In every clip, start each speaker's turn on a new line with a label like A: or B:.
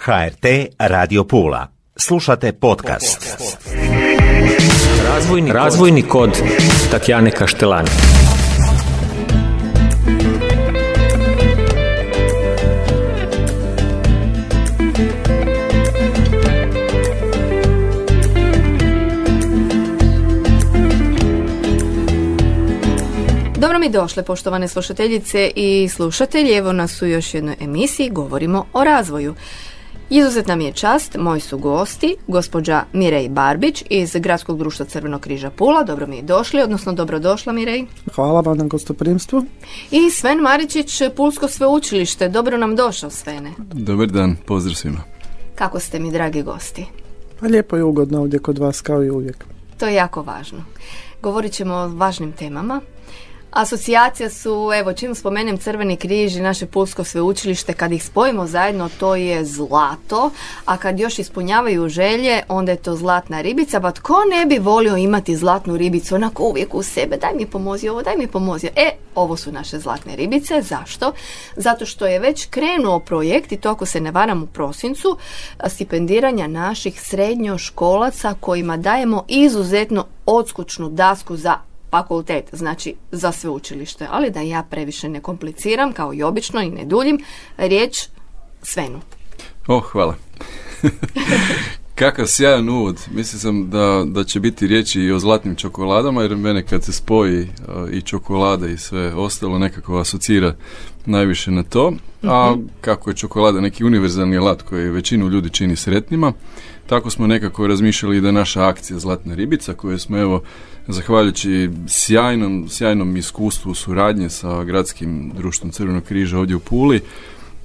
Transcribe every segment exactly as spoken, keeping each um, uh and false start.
A: ha er te Radio Pula. Slušate podcast.
B: Razvojni, razvojni kod Tatjane Kaštelani.
C: Dobro mi došle, poštovane slušateljice i slušatelji. Evo nas u još jednoj emisiji, govorimo o razvoju. Izuzetna mi je čast, moji su gosti, gospođa Mirej Barbić iz Gradskog društva Crvenog križa Pula. Dobro mi je došli, odnosno dobrodošla Mirej.
D: Hvala vam na gostoprimstvu.
C: I Sven Maričić, Pulsko sveučilište. Dobro nam došao, Svene.
E: Dobar dan, pozdrav svima.
C: Kako ste mi, dragi gosti?
D: Pa lijepo i ugodno ovdje kod vas, kao i uvijek.
C: To je jako važno. Govorit ćemo o važnim temama. Asocijacija su, evo, čim spomenem Crveni križ i naše Pulsko sveučilište, kad ih spojimo zajedno, to je zlato, a kad još ispunjavaju želje, onda je to zlatna ribica. Pa tko ne bi volio imati zlatnu ribicu, onako uvijek u sebe, daj mi pomozi ovo, daj mi pomozi. E, ovo su naše zlatne ribice. Zašto? Zato što je već krenuo projekt, i to ako se ne varam u prosincu, stipendiranja naših srednjoškolaca kojima dajemo izuzetno odskučnu dasku za fakultet, znači za sveučilište. Ali da ja previše ne kompliciram, kao i obično i ne duljim, riječ Svenu.
E: O, hvala. Kakav sjajan uvod. Mislio sam da, da će biti riječi i o zlatnim čokoladama, jer mene kad se spoji uh, i čokolada i sve ostalo nekako asocira najviše na to. Mm-hmm. A kako je čokolada neki univerzalni alat koji većinu ljudi čini sretnima, tako smo nekako razmišljali da naša akcija Zlatna ribica, koju smo evo zahvaljujući sjajnom, sjajnom iskustvu suradnje sa Gradskim društvom Crvenog križa ovdje u Puli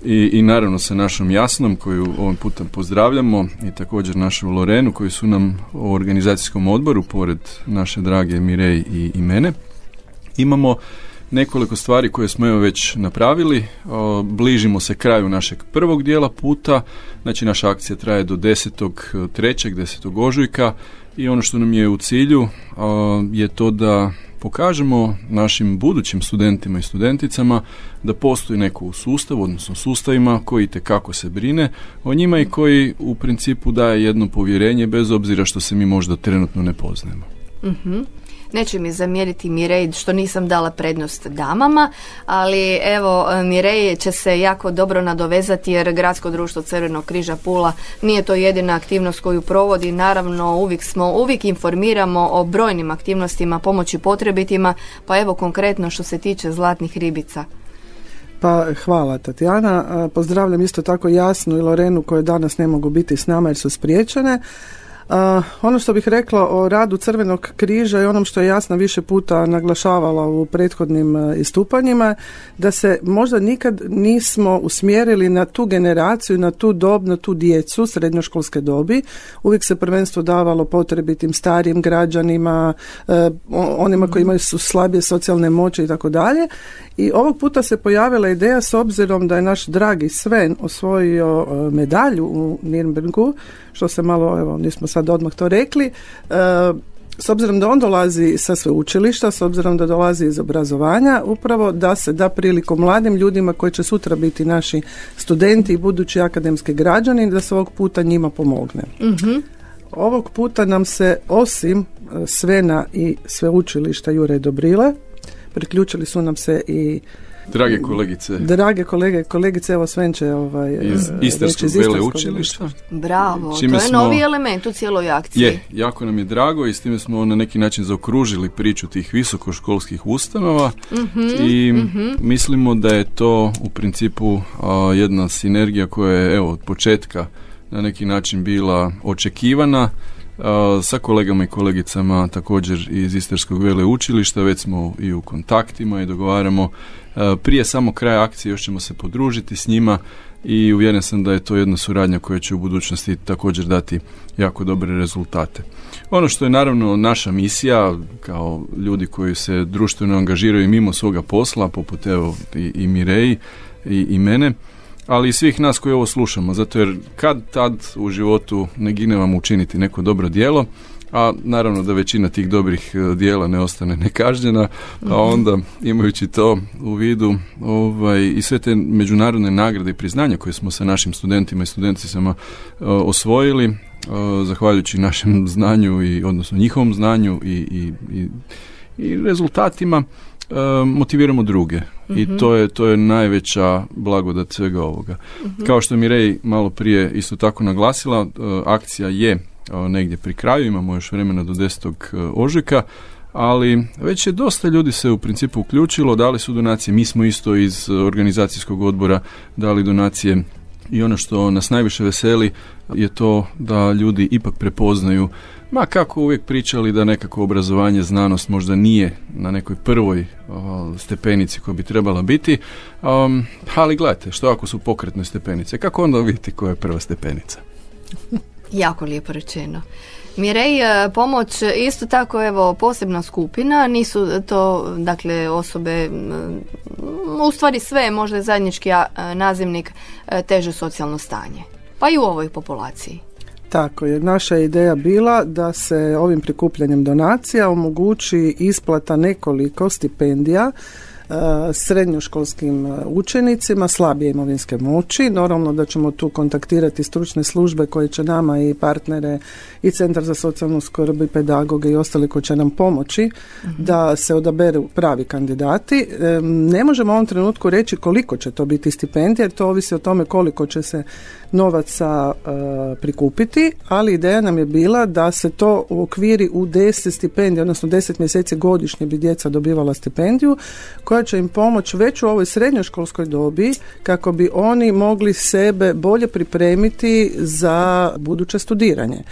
E: i, i naravno sa našom Jasnom, koju ovim putem pozdravljamo, i također našu Lorenu, koji su nam u organizacijskom odboru, pored naše drage Mirej i, i mene. Imamo nekoliko stvari koje smo evo već napravili. O, bližimo se kraju našeg prvog dijela puta, znači naša akcija traje do desetog trećeg, desetog ožujka, i ono što nam je u cilju o, je to da pokažemo našim budućim studentima i studenticama da postoji neko u sustavu, odnosno sustavima koji itekako se brine o njima i koji u principu daje jedno povjerenje bez obzira što se mi možda trenutno ne poznajemo.
C: Mhm. Neće mi zamjeriti Mirej što nisam dala prednost damama, ali evo Mirej će se jako dobro nadovezati jer Gradsko društvo Crvenog križa Pula nije to jedina aktivnost koju provodi. Naravno uvijek smo, uvijek informiramo o brojnim aktivnostima pomoći potrebitima, pa evo konkretno što se tiče zlatnih ribica.
D: Pa hvala Tatjana, pozdravljam isto tako Jasnu i Lorenu koje danas ne mogu biti s nama jer su spriječene. Uh, ono što bih rekla o radu Crvenog križa i onom što je Jasna više puta naglašavala u prethodnim uh, istupanjima, da se možda nikad nismo usmjerili na tu generaciju, na tu dob, na tu djecu srednjoškolske dobi. Uvijek se prvenstvo davalo potrebitim starijim građanima, uh, onima koji imaju su slabije socijalne moći i tako dalje. I ovog puta se pojavila ideja, s obzirom da je naš dragi Sven osvojio uh, medalju u Nürnbergu, što se malo, evo, nismo sad odmah to rekli, e, s obzirom da on dolazi sa sveučilišta, s obzirom da dolazi iz obrazovanja, upravo da se da priliku mladim ljudima koji će sutra biti naši studenti i budući akademski građani, da se ovog puta njima pomogne. Mm-hmm. Ovog puta nam se osim Svena i sveučilišta Jure Dobrile, priključili su nam se i
E: Drage kolegice.
D: Drage kolege, kolegice, evo Sven će ovaj,
E: iz Istarskog veleučilišta.
C: Bravo, čime to je smo, novi element u cijeloj akciji.
E: Je, jako nam je drago i s time smo na neki način zaokružili priču tih visokoškolskih ustanova mm-hmm, i mm-hmm. mislimo da je to u principu a, jedna sinergija koja je evo od početka na neki način bila očekivana. Uh, sa kolegama i kolegicama također iz Istarskog veleučilišta, već smo i u kontaktima i dogovaramo. Uh, prije samo kraja akcije još ćemo se podružiti s njima i uvjeren sam da je to jedna suradnja koja će u budućnosti također dati jako dobre rezultate. Ono što je naravno naša misija kao ljudi koji se društveno angažiraju mimo svoga posla, poput evo i, i Mireji i, i mene, ali i svih nas koji ovo slušamo, zato jer kad tad u životu ne gine vam učiniti neko dobro djelo a naravno da većina tih dobrih dijela ne ostane nekažnjena, a onda imajući to u vidu ovaj, i sve te međunarodne nagrade i priznanja koje smo sa našim studentima i studenticama uh, osvojili, uh, zahvaljujući našem znanju i odnosno njihovom znanju i, i, i, i rezultatima, uh, motiviramo druge. Mm-hmm. I to je, to je najveća blagodat svega ovoga. Mm-hmm. Kao što je Mirej malo prije isto tako naglasila, uh, akcija je negdje pri kraju, imamo još vremena do desetog ožujka, ali već je dosta ljudi se u principu uključilo, dali su donacije, mi smo isto iz organizacijskog odbora dali donacije i ono što nas najviše veseli je to da ljudi ipak prepoznaju, ma kako uvijek pričali da nekako obrazovanje, znanost možda nije na nekoj prvoj o, stepenici koja bi trebala biti, um, ali gledajte, što ako su pokretne stepenice, kako onda vidjeti koja je prva stepenica?
C: Jako lijepo rečeno. Mirej, pomoć isto tako, evo, posebna skupina, nisu to, dakle, osobe, u stvari sve, možda je zajednički nazivnik, teže socijalno stanje, pa i u ovoj populaciji.
D: Tako je, naša je ideja bila da se ovim prikupljanjem donacija omogući isplata nekoliko stipendija srednjoškolskim učenicima slabije imovinske moći. Normalno da ćemo tu kontaktirati stručne službe koje će nama i partnere i Centar za socijalnu skrb i pedagoge i ostali koji će nam pomoći mm-hmm. da se odaberu pravi kandidati. Ne možemo u ovom trenutku reći koliko će to biti stipendija, jer to ovisi o tome koliko će se novaca uh, prikupiti, ali ideja nam je bila da se to uokviri u deset stipendija, odnosno deset mjeseci godišnje bi djeca dobivala stipendiju koja će im pomoći već u ovoj srednjoškolskoj dobi kako bi oni mogli sebe bolje pripremiti za buduće studiranje.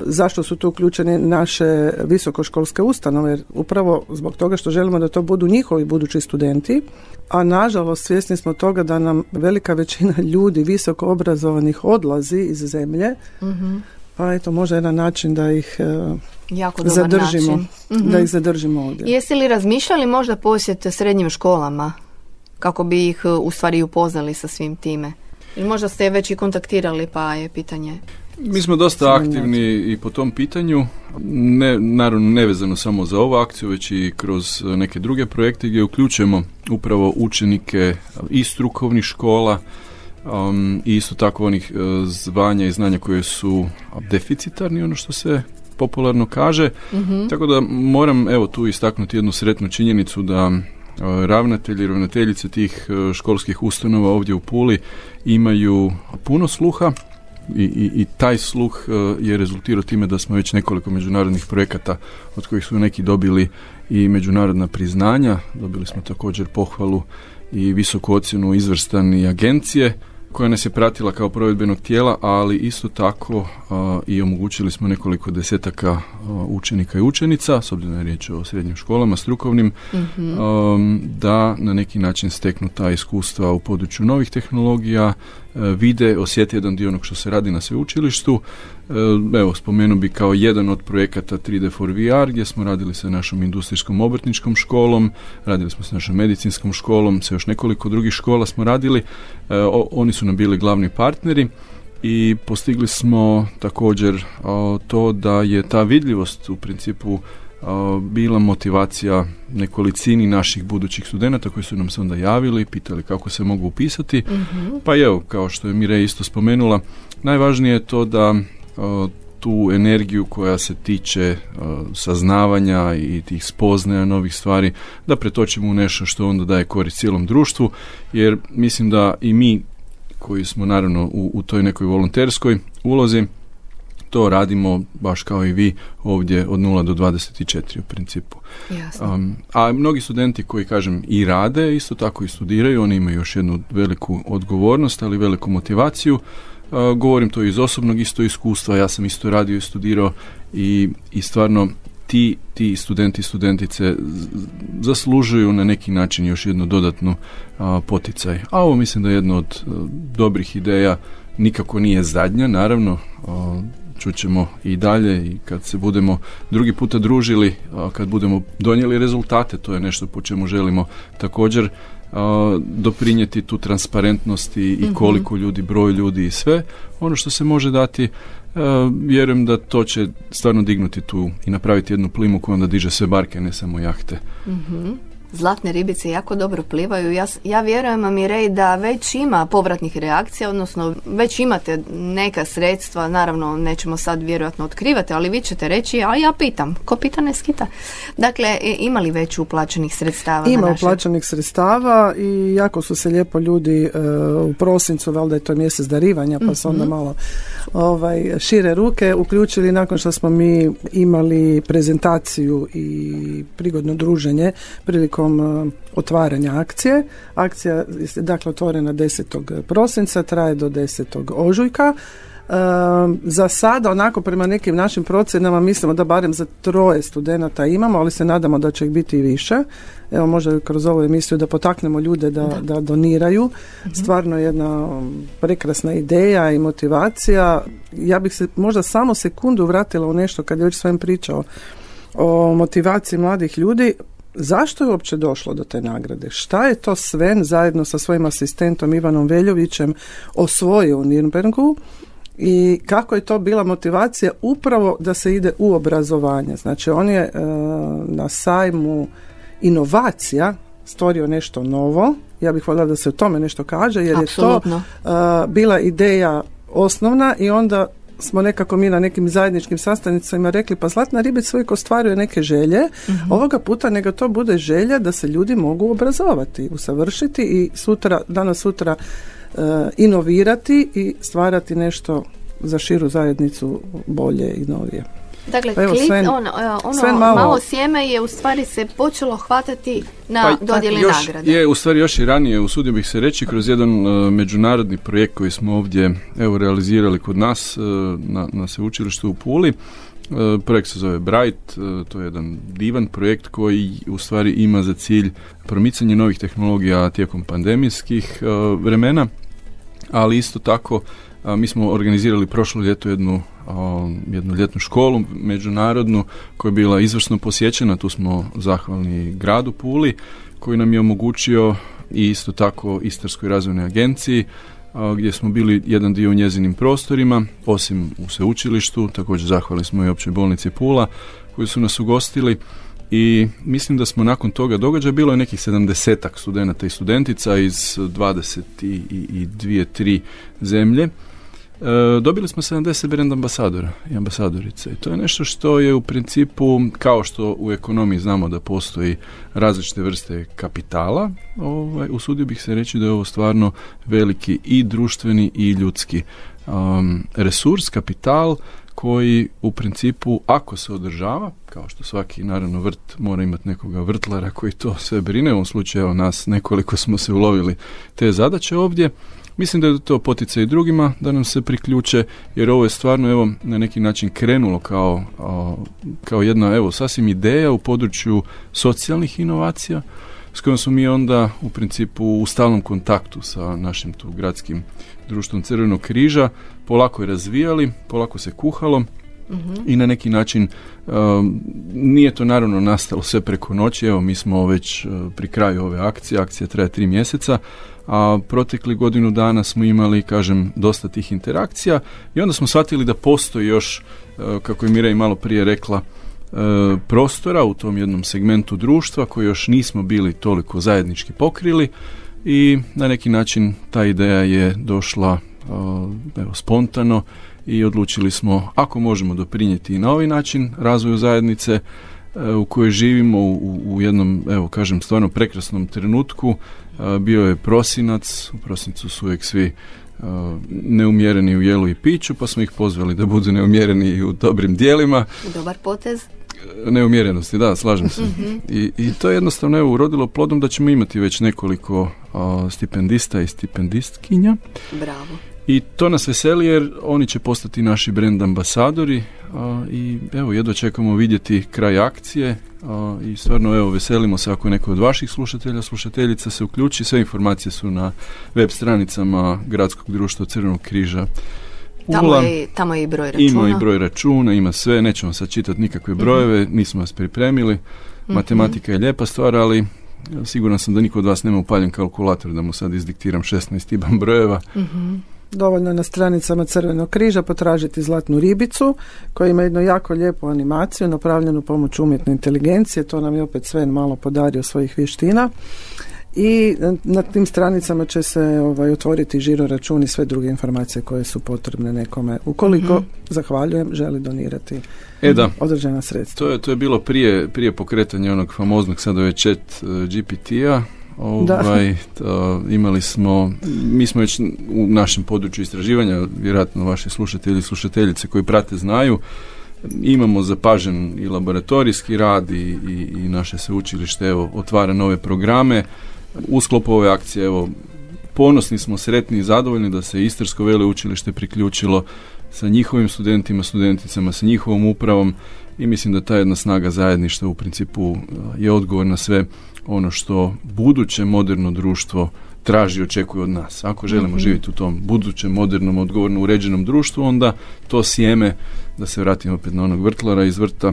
D: Zašto su tu uključene naše visokoškolske ustanove? Jer upravo zbog toga što želimo da to budu njihovi budući studenti, a nažalost svjesni smo toga da nam velika većina ljudi visoko obrazovanih odlazi iz zemlje, mm-hmm. pa eto možda jedan način da ih
C: jako
D: zadržimo,
C: mm-hmm.
D: da ih zadržimo ovdje.
C: Jeste li razmišljali možda posjet srednjim školama kako bi ih u stvari upoznali sa svim time? Ili možda ste već i kontaktirali, pa je pitanje...
E: Mi smo dosta aktivni i po tom pitanju, ne, naravno nevezano samo za ovu akciju, već i kroz neke druge projekte gdje uključujemo upravo učenike iz strukovnih škola um, i isto tako onih uh, zvanja i znanja koje su deficitarni, ono što se popularno kaže. Mm-hmm. Tako da moram evo tu istaknuti jednu sretnu činjenicu da uh, ravnatelji i ravnateljice tih uh, školskih ustanova ovdje u Puli imaju puno sluha. I, i, i taj sluh uh, je rezultirao time da smo već nekoliko međunarodnih projekata od kojih su neki dobili i međunarodna priznanja, dobili smo također pohvalu i visoku ocjenu izvrstan agencije koja nas je pratila kao provedbenog tijela, ali isto tako uh, i omogućili smo nekoliko desetaka uh, učenika i učenica, s obzirom da je riječ o srednjim školama, strukovnim, mm-hmm. um, da na neki način steknu ta iskustva u području novih tehnologija, uh, vide, osjeti jedan dio onog što se radi na sveučilištu. Uh, evo, spomenu bi kao jedan od projekata tri D for V R, gdje smo radili sa našom industrijskom obrtničkom školom, radili smo sa našom medicinskom školom, sa još nekoliko drugih škola smo radili, uh, o, oni su nam bili glavni partneri i postigli smo također o, to da je ta vidljivost u principu o, bila motivacija nekolicini naših budućih studenata koji su nam se onda javili, pitali kako se mogu upisati. Mm-hmm. Pa evo, kao što je Mirej isto spomenula, najvažnije je to da o, tu energiju koja se tiče o, saznavanja i tih spoznaja novih stvari, da pretočimo u nešto što onda daje korist cijelom društvu, jer mislim da i mi koji smo naravno u, u toj nekoj volonterskoj ulozi, to radimo baš kao i vi ovdje od nula do dvadeset četiri u principu. Um, a mnogi studenti koji, kažem, i rade, isto tako i studiraju, oni imaju još jednu veliku odgovornost, ali veliku motivaciju. Uh, govorim to iz osobnog isto iskustva, ja sam isto radio i studirao i, i stvarno ti, ti studenti i studentice zaslužuju na neki način još jednu dodatnu a, poticaj. A ovo mislim da je jedna od a, dobrih ideja, nikako nije zadnja, naravno, a, čućemo i dalje i kad se budemo drugi puta družili, kad budemo donijeli rezultate, to je nešto po čemu želimo također doprinijeti tu transparentnost i, i koliko ljudi, broj ljudi i sve. Ono što se može dati, vjerujem da to će stvarno dignuti tu i napraviti jednu plimu koja onda diže sve barke, ne samo jahte.
C: Mhm. Zlatne ribice jako dobro plivaju. Ja, ja vjerujem, Mirej, da već ima povratnih reakcija, odnosno već imate neka sredstva, naravno nećemo sad vjerojatno otkrivati, ali vi ćete reći, a ja pitam, ko pita ne skita. Dakle, ima li već uplaćenih sredstava?
D: Ima
C: na naše...
D: uplaćenih sredstava i jako su se lijepo ljudi uh, u prosincu, valjda je to mjesec darivanja, pa su onda malo ovaj, šire ruke uključili nakon što smo mi imali prezentaciju i prigodno druženje prilikom otvaranja akcije. Akcija je dakle otvorena desetog prosinca, traje do desetog ožujka. E, za sada, onako prema nekim našim procjenama, mislimo da barem za troje studenata imamo, ali se nadamo da će ih biti i više. Evo, možda kroz ovu emisiju da potaknemo ljude da, da. da doniraju. Mm-hmm. Stvarno je jedna prekrasna ideja i motivacija. Ja bih se možda samo sekundu vratila u nešto kad je već svem pričao o motivaciji mladih ljudi. Zašto je uopće došlo do te nagrade? Šta je to Sven zajedno sa svojim asistentom Ivanom Veljovićem osvojio u Nürnbergu i kako je to bila motivacija upravo da se ide u obrazovanje? Znači, on je e, na sajmu inovacija stvorio nešto novo. Ja bih voljela da se o tome nešto kaže, jer Absolutno. je to e, bila ideja osnovna i onda smo nekako mi na nekim zajedničkim sastancima rekli, pa Zlatna ribica uvijek ostvaruje neke želje, uh-huh. ovoga puta nego to bude želja da se ljudi mogu obrazovati, usavršiti i sutra, danas sutra uh, inovirati i stvarati nešto za širu zajednicu bolje i novije.
C: Dakle, pa evo, klic, Sven, ono, ono Sven malo, malo sjeme je u stvari se počelo hvatati na pa, dodjeli još, nagrade.
E: Je, u stvari još i ranije, usudio bih se reći, kroz jedan uh, međunarodni projekt koji smo ovdje evo, realizirali kod nas uh, na, na sveučilištu u Puli. Uh, projekt se zove Bright, uh, to je jedan divan projekt koji u stvari ima za cilj promicanje novih tehnologija tijekom pandemijskih uh, vremena, ali isto tako uh, mi smo organizirali prošlo ljeto jednu jednu ljetnu školu međunarodnu koja je bila izvrsno posjećena. Tu smo zahvalni gradu Puli koji nam je omogućio i isto tako Istarskoj razvojnoj agenciji gdje smo bili jedan dio u njezinim prostorima, osim u sveučilištu. Također zahvalni smo i Općoj bolnici Pula koji su nas ugostili i mislim da smo nakon toga događaja, bilo je nekih sedamdesetak studenata i studentica iz dvadeset dvije tri zemlje. E, dobili smo sedamdeset brand ambasadora i ambasadorice i to je nešto što je u principu, kao što u ekonomiji znamo da postoji različite vrste kapitala, ovaj, usudio bih se reći da je ovo stvarno veliki i društveni i ljudski um, resurs, kapital koji u principu, ako se održava, kao što svaki naravno vrt mora imati nekoga vrtlara koji to sve brine, u ovom slučaju evo, nas nekoliko smo se ulovili te zadaće ovdje. Mislim da je to poticaj i drugima da nam se priključe, jer ovo je stvarno evo na neki način krenulo kao, kao jedna evo sasvim ideja u području socijalnih inovacija s kojom smo mi onda u principu u stalnom kontaktu sa našim tu gradskim društvom Crvenog križa, polako je razvijali, polako se kuhalo. Mm-hmm. I na neki način um, nije to naravno nastalo sve preko noći. Evo mi smo već uh, pri kraju ove akcije, akcija traje tri mjeseca, a protekli godinu dana smo imali, kažem, dosta tih interakcija i onda smo shvatili da postoji još, uh, kako je Mirej malo prije rekla, uh, prostora u tom jednom segmentu društva koji još nismo bili toliko zajednički pokrili i na neki način ta ideja je došla uh, evo, spontano i odlučili smo, ako možemo doprinijeti i na ovaj način razvoju zajednice e, u kojoj živimo u, u jednom, evo kažem, stvarno prekrasnom trenutku. E, bio je prosinac, u prosincu su uvijek svi e, neumjereni u jelu i piću, pa smo ih pozvali da budu neumjereni i u dobrim dijelima.
C: Dobar potez.
E: Neumjerenosti, da, slažem se. Mm-hmm. I, I to je jednostavno evo, urodilo plodom da ćemo imati već nekoliko a, stipendista i stipendistkinja.
C: Bravo.
E: I to nas veseli jer oni će postati naši brand ambasadori a, i evo jedva čekamo vidjeti kraj akcije a, i stvarno evo veselimo se ako neko od vaših slušatelja, slušateljica se uključi. Sve informacije su na web stranicama Gradskog društva Crvenog križa
C: Tamo je, tamo je i broj računa.
E: Ima i broj računa, ima sve, nećemo sad čitati nikakve brojeve, mm-hmm. nismo vas pripremili. Mm-hmm. Matematika je lijepa stvar, ali siguran sam da niko od vas nema upaljen kalkulator da mu sad izdiktiram šesnaest iban brojeva.
C: Mm-hmm.
D: Dovoljno na stranicama Crvenog križa potražiti Zlatnu ribicu koja ima jednu jako lijepu animaciju napravljenu pomoću umjetne inteligencije. To nam je opet Sven malo podario svojih vještina. I na tim stranicama će se ovaj, otvoriti žiro račun i sve druge informacije koje su potrebne nekome. Ukoliko, mm-hmm. zahvaljujem, želi donirati
E: e, da.
D: određena sredstva.
E: To je, to je bilo prije, prije pokretanja onog famoznog sada je chat uh, G P T-a. Ovaj, to, imali smo, mi smo već u našem području istraživanja, vjerojatno vaši slušatelji i slušateljice koji prate znaju, imamo zapažen i laboratorijski rad i, i, i naše sveučilište evo, otvara nove programe. U sklopu ove akcije evo, ponosni smo, sretni i zadovoljni da se Istarsko veleučilište priključilo sa njihovim studentima, studenticama, sa njihovom upravom i mislim da ta jedna snaga zajedništva u principu je odgovor na sve ono što buduće moderno društvo traži i očekuje od nas. Ako želimo mm-hmm. živjeti u tom budućem, modernom, odgovorno uređenom društvu, onda to sjeme, da se vratimo opet na onog vrtlara iz vrta,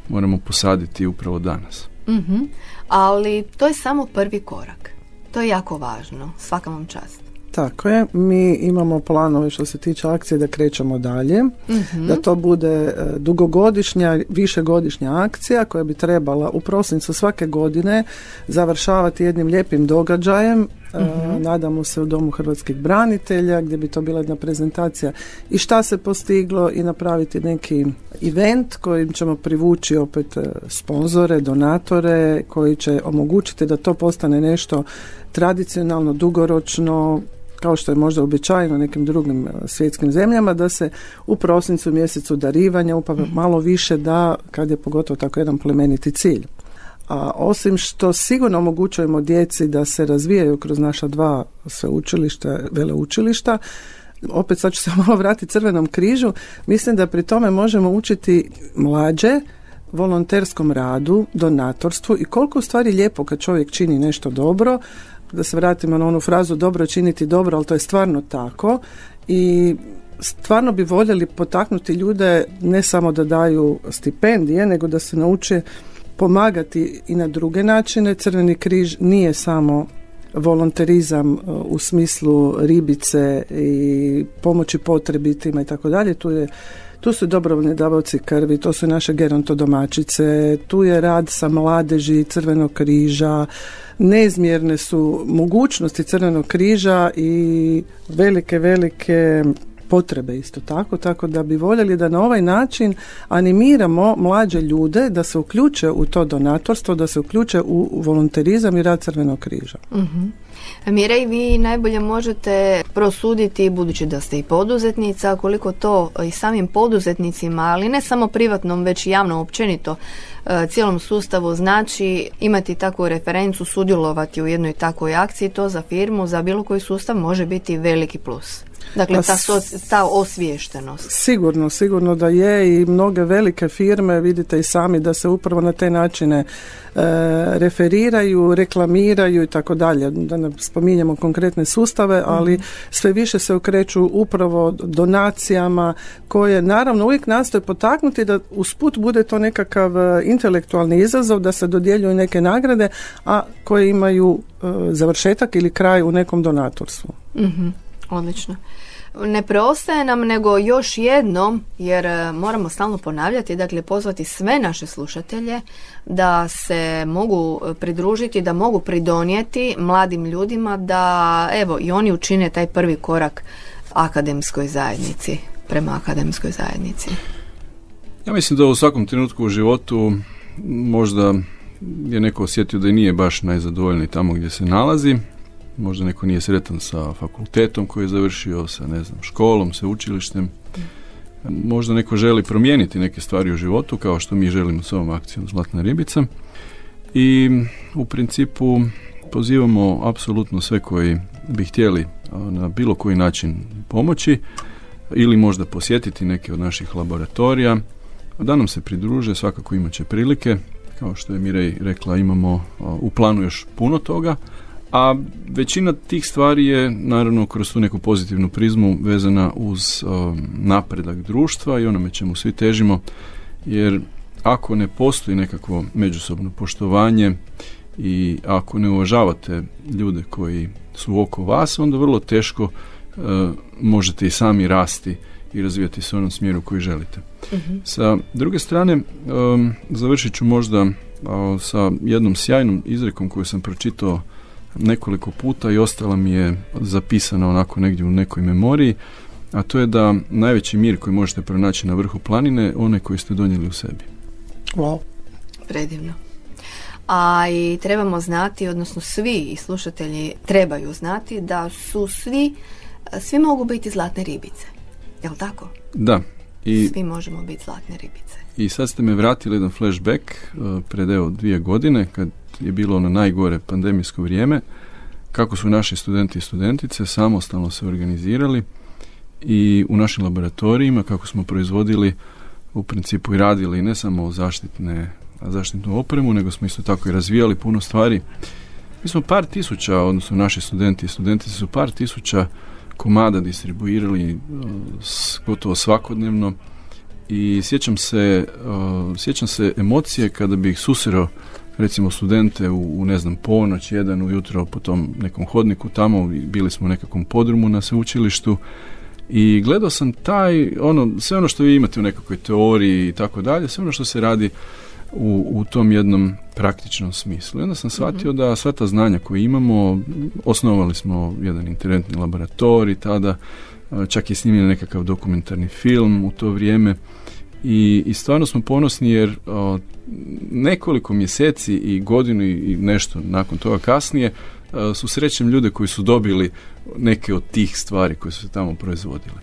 E: moramo posaditi upravo danas.
C: Mm-hmm. Ali to je samo prvi korak. To je jako važno. Svaka vam čast.
D: Tako je, mi imamo planove što se tiče akcije da krećemo dalje, mm-hmm. da to bude dugogodišnja, višegodišnja akcija koja bi trebala u prosincu svake godine završavati jednim lijepim događajem, mm-hmm. nadamo se u Domu hrvatskih branitelja gdje bi to bila jedna prezentacija i šta se postiglo i napraviti neki event kojim ćemo privući opet sponzore, donatore koji će omogućiti da to postane nešto tradicionalno, dugoročno, kao što je možda uobičajeno nekim drugim svjetskim zemljama, da se u prosincu mjesecu darivanja upravo malo više da, kad je pogotovo tako jedan plemeniti cilj. A osim što sigurno omogućujemo djeci da se razvijaju kroz naša dva sveučilišta, veleučilišta, opet sad ću se malo vratiti Crvenom križu, mislim da pri tome možemo učiti mlađe volonterskom radu, donatorstvu i koliko u stvari lijepo kad čovjek čini nešto dobro, da se vratimo na onu frazu dobro činiti dobro, ali to je stvarno tako i stvarno bi voljeli potaknuti ljude ne samo da daju stipendije, nego da se nauče pomagati i na druge načine. Crveni križ nije samo volonterizam u smislu ribice i pomoći potrebitima i tako dalje, tu je Tu su dobrovoljni davaoci krvi, to su naše gerontodomaćice, tu je rad sa mladeži Crvenog križa, neizmjerne su mogućnosti Crvenog križa i velike, velike potrebe isto tako, tako da bi voljeli da na ovaj način animiramo mlađe ljude da se uključe u to donatorstvo, da se uključe u volonterizam i rad Crvenog križa.
C: Mm-hmm. Mirej, vi najbolje možete prosuditi, budući da ste i poduzetnica, koliko to i samim poduzetnicima, ali ne samo privatnom, već i javnom općenito cijelom sustavu znači imati takvu referencu, sudjelovati u jednoj takvoj akciji, to za firmu, za bilo koji sustav može biti veliki plus. Dakle, ta, ta osviještenost.
D: Sigurno, sigurno da je i mnoge velike firme, vidite i sami da se upravo na te načine e, referiraju, reklamiraju i tako dalje. Da ne spominjemo konkretne sustave, ali sve više se okreću upravo donacijama koje naravno uvijek nastoje potaknuti da usput bude to nekakav intelektualni izazov, da se dodjeljuju neke nagrade, a koje imaju e, završetak ili kraj u nekom donatorstvu.
C: Mhm. Odlično. Ne preostaje nam nego još jednom, jer moramo stalno ponavljati, dakle pozvati sve naše slušatelje da se mogu pridružiti, da mogu pridonijeti mladim ljudima da evo i oni učine taj prvi korak akademskoj zajednici, prema akademskoj zajednici.
E: Ja mislim da u svakom trenutku u životu možda je neko osjetio da i nije baš najzadovoljniji tamo gdje se nalazi. Možda neko nije sretan sa fakultetom koji je završio, sa ne znam, školom, sa učilištem. Možda neko želi promijeniti neke stvari u životu, kao što mi želimo s ovom akcijom Zlatna ribica. I u principu pozivamo apsolutno sve koji bi htjeli na bilo koji način pomoći ili možda posjetiti neke od naših laboratorija, da nam se pridruže, svakako imat će prilike. Kao što je Mirej rekla, imamo u planu još puno toga, A većina tih stvari je naravno kroz tu neku pozitivnu prizmu vezana uz uh, napredak društva i onome čemu svi težimo, jer ako ne postoji nekakvo međusobno poštovanje i ako ne uvažavate ljude koji su oko vas, onda vrlo teško uh, možete i sami rasti i razvijati se u onom smjeru koji želite. Uh-huh. Sa druge strane, um, završit ću možda uh, sa jednom sjajnom izrekom koju sam pročitao nekoliko puta i ostala mi je zapisana onako negdje u nekoj memoriji, a to je da najveći mir koji možete pronaći na vrhu planine, onaj koji ste donijeli u sebi.
D: Wow.
C: Predivno. A i trebamo znati, odnosno svi i slušatelji trebaju znati da su svi, svi mogu biti zlatne ribice. Je li tako?
E: Da. I,
C: svi možemo biti zlatne ribice.
E: I sad ste me vratili jedan flashback uh, pred evo dvije godine, kad je bilo ono najgore pandemijsko vrijeme, kako su naši studenti i studentice samostalno se organizirali i u našim laboratorijima kako smo proizvodili u principu i radili ne samo zaštitne, zaštitnu opremu, nego smo isto tako i razvijali puno stvari. Mi smo par tisuća, odnosno naši studenti i studentice su par tisuća komada distribuirali uh, s, gotovo svakodnevno i sjećam se, uh, sjećam se emocije kada bih susreo recimo studente u, u ne znam ponoć, jedan ujutro po tom nekom hodniku tamo, bili smo u nekakvom podrumu na sveučilištu i gledao sam taj, ono, sve ono što vi imate u nekakvoj teoriji i tako dalje, sve ono što se radi u, u tom jednom praktičnom smislu. I onda sam shvatio mm-hmm. da sva ta znanja koje imamo, osnovali smo jedan interventni laboratorij tada, čak je snimljen nekakav dokumentarni film u to vrijeme i, i stvarno smo ponosni jer o, nekoliko mjeseci i godinu i nešto nakon toga kasnije o, su srećem ljude koji su dobili neke od tih stvari koje su se tamo proizvodile.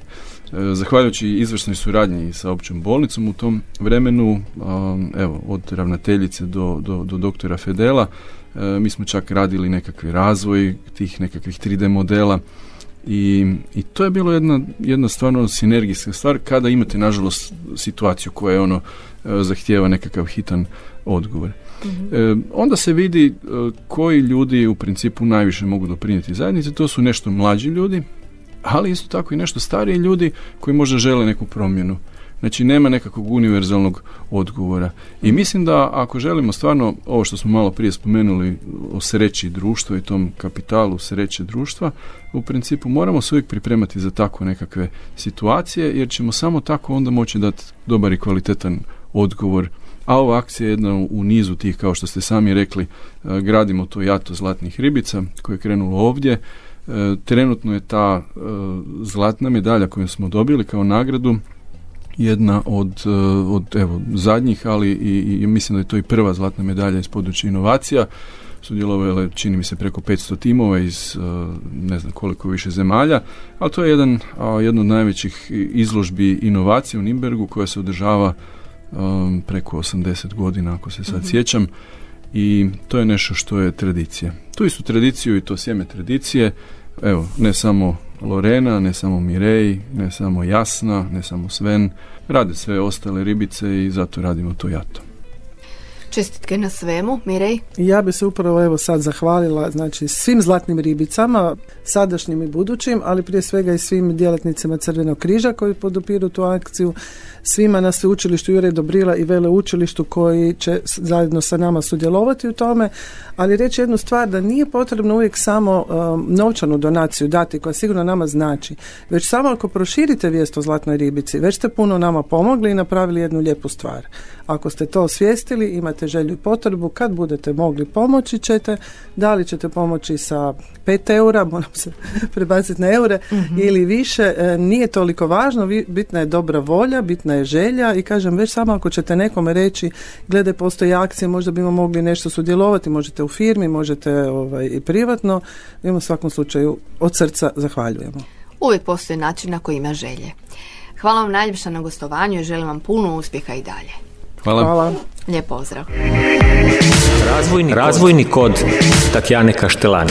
E: E, zahvaljujući izvrsnoj suradnji sa općom bolnicom u tom vremenu, o, evo, od ravnateljice do, do, do doktora Fedela, e, mi smo čak radili nekakvi razvoj tih nekakvih tri D modela. I, i to je bilo jedna, jedna stvarno sinergijska stvar kada imate nažalost situaciju koja je ono e, zahtijeva nekakav hitan odgovor. Mm-hmm. E, onda se vidi e, koji ljudi u principu najviše mogu doprinijeti zajednici, to su nešto mlađi ljudi, ali isto tako i nešto stariji ljudi koji možda žele neku promjenu. Znači nema nekakvog univerzalnog odgovora. I mislim da ako želimo stvarno ovo što smo malo prije spomenuli o sreći društva i tom kapitalu sreće društva, u principu moramo se uvijek pripremati za takve nekakve situacije, jer ćemo samo tako onda moći dati dobar i kvalitetan odgovor. A ova akcija je jedna u nizu tih, kao što ste sami rekli, gradimo to jato zlatnih ribica koje je krenulo ovdje. Trenutno je ta zlatna medalja koju smo dobili kao nagradu jedna od, od evo, zadnjih, ali i, i mislim da je to i prva zlatna medalja iz područja inovacija. Sudjelovalo je, čini mi se, preko petsto timova iz ne znam koliko više zemalja, ali to je jedan, jedna od najvećih izložbi inovacije u Nürnbergu koja se održava um, preko osamdeset godina, ako se sad mm-hmm. sjećam, i to je nešto što je tradicija. Tu istu tradiciju i to sjeme tradicije, evo, ne samo Lorena, ne samo Mirej, ne samo Jasna, ne samo Sven, rade sve ostale ribice i zato radimo to jato.
C: Čestitke na svemu, Mirej.
D: Ja bi se upravo evo sad zahvalila znači svim zlatnim ribicama, sadašnjim i budućim, ali prije svega i svim djelatnicima Crvenog križa koji podupiru tu akciju, svima na sveučilištu Juraj Dobrila i veleučilištu koji će zajedno sa nama sudjelovati u tome, ali reći jednu stvar, da nije potrebno uvijek samo um, novčanu donaciju dati koja sigurno nama znači, već samo ako proširite vijest o zlatnoj ribici, već ste puno nama pomogli i napravili jednu lijepu stvar. Ako ste to osvijestili, imate želju i potrebu, kad budete mogli pomoći ćete, da li ćete pomoći sa pet eura, moram se prebaciti na eure, mm-hmm. ili više, e, nije toliko važno, vi, bitna je dobra volja, bitna je želja i kažem, već samo ako ćete nekome reći, gledaj, postoji akcije, možda bimo mogli nešto sudjelovati, možete u firmi, možete ovaj, i privatno, mi u svakom slučaju od srca zahvaljujemo.
C: Uvijek postoji način na koji ima želje. Hvala vam najljepša na gostovanju i želim vam puno uspjeha i dalje.
E: Hvala.
D: Hvala.
C: Lijep pozdrav.
B: Razvojni, Razvojni kod Tatjane Kaštelani.